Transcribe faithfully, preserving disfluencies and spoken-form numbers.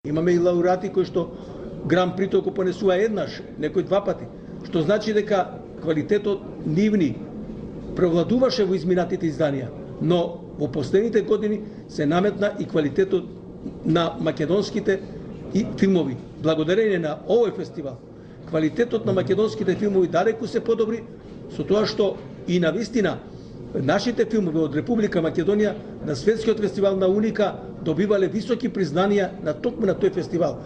Имаме и лауреати кои што Гран Прито го понесува еднаш, некој два пати, што значи дека квалитетот нивни превладуваше во изминатите изданија, но во последните години се наметна и квалитетот на македонските и филмови. Благодарение на овој фестивал, квалитетот на македонските филмови далеку се подобри, со тоа што и навистина нашите филмови од Република Македонија на светскиот фестивал на Уника добивале високи признанија на токму на тој фестивал.